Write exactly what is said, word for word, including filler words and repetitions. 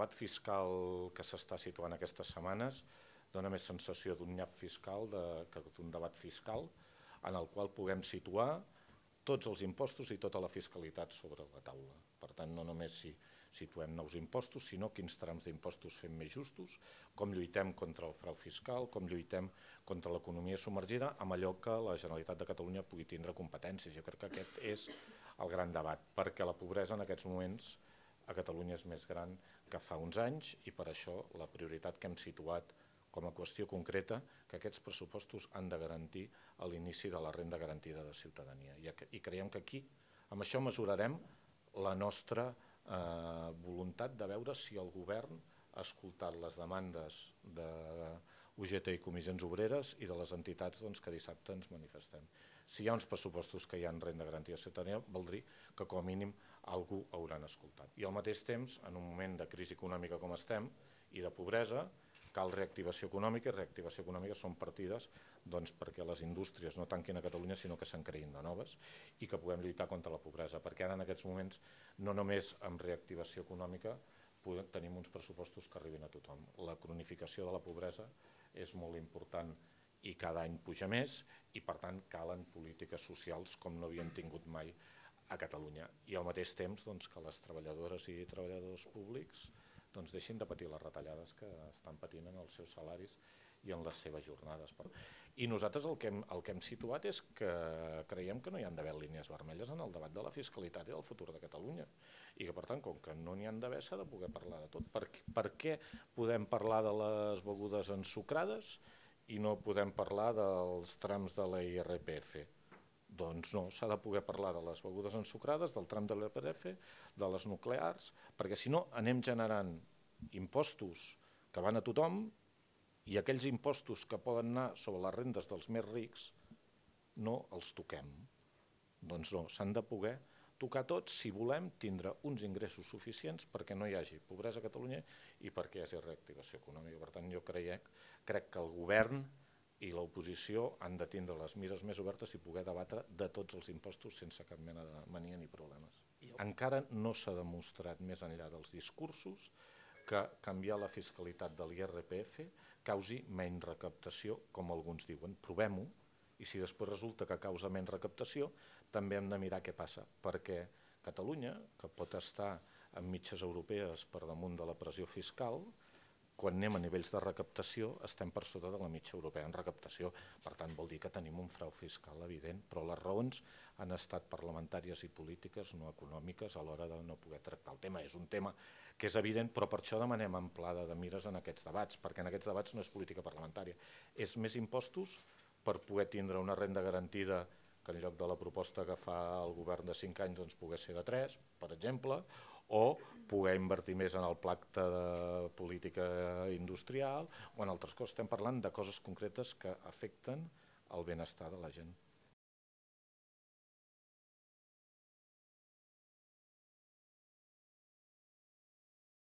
debat fiscal que s'està situant aquestes setmanes dona més sensació d'un nyap fiscal que d'un debat fiscal en el qual puguem situar tots els impostos i tota la fiscalitat sobre la taula. Per tant, no només si situem nous impostos, sinó quins trams d'impostos fem més justos, com lluitem contra el frau fiscal, com lluitem contra l'economia submergida, amb allò que la Generalitat de Catalunya pugui tindre competències. Jo crec que aquest és el gran debat, perquè la pobresa en aquests moments a Catalunya és més gran que fa uns anys i per això la prioritat que hem situat com a qüestió concreta que aquests pressupostos han de garantir l'inici de la renda garantida de ciutadania. I creiem que aquí, amb això mesurarem la nostra voluntat de veure si el govern ha escoltat les demandes de U G T i comissions obreres i de les entitats que dissabte ens manifestem. Si hi ha uns pressupostos que hi ha renda garantida de ciutadania, vol dir que com a mínim algú hauran escoltat. I al mateix temps, en un moment de crisi econòmica com estem i de pobresa, cal reactivació econòmica, i reactivació econòmica són partides perquè les indústries no tanquin a Catalunya sinó que se'n creïn de noves i que puguem lluitar contra la pobresa, perquè ara en aquests moments no només amb reactivació econòmica tenim uns pressupostos que arribin a tothom. La cronificació de la pobresa és molt important i cada any puja més i per tant calen polítiques socials com no havien tingut mai a Catalunya. I al mateix temps que les treballadores i treballadors públics deixin de patir les retallades que estan patint en els seus salaris i en les seves jornades. I nosaltres el que hem situat és que creiem que no hi ha d'haver línies vermelles en el debat de la fiscalitat i del futur de Catalunya i que per tant, com que no n'hi ha d'haver, s'ha de poder parlar de tot. Per què podem parlar de les begudes ensucrades i no podem parlar dels trams de l'I R P F? Doncs no, s'ha de poder parlar de les begudes ensucrades, del tram de l'I R P F, de les nuclears, perquè si no anem generant impostos que van a tothom i aquells impostos que poden anar sobre les rendes dels més rics no els toquem. Doncs no, s'han de poder tocar tots si volem tindre uns ingressos suficients perquè no hi hagi pobresa a Catalunya i perquè hi hagi reactivació econòmica. Per tant, jo crec que el govern i l'oposició han de tindre les mires més obertes i poder debatre de tots els impostos sense cap mena de mania ni problemes. Encara no s'ha demostrat més enllà dels discursos que canviar la fiscalitat de l'I R P F causi menys recaptació, com alguns diuen. Provem-ho i si després resulta que causa menys recaptació també hem de mirar què passa, perquè Catalunya, que pot estar en mitges europees per damunt de la pressió fiscal, quan anem a nivells de recaptació estem per sota de la mitja europea en recaptació. Per tant, vol dir que tenim un frau fiscal evident, però les raons han estat parlamentàries i polítiques, no econòmiques, a l'hora de no poder tractar el tema. És un tema que és evident, però per això demanem amplada de mires en aquests debats, perquè en aquests debats no és política parlamentària. És més impostos per poder tindre una renda garantida que en lloc de la proposta que fa el govern de cinc anys doncs pogués ser de tres, per exemple, o poder invertir més en el pacte de política industrial o en altres coses. Estem parlant de coses concretes que afecten el benestar de la gent.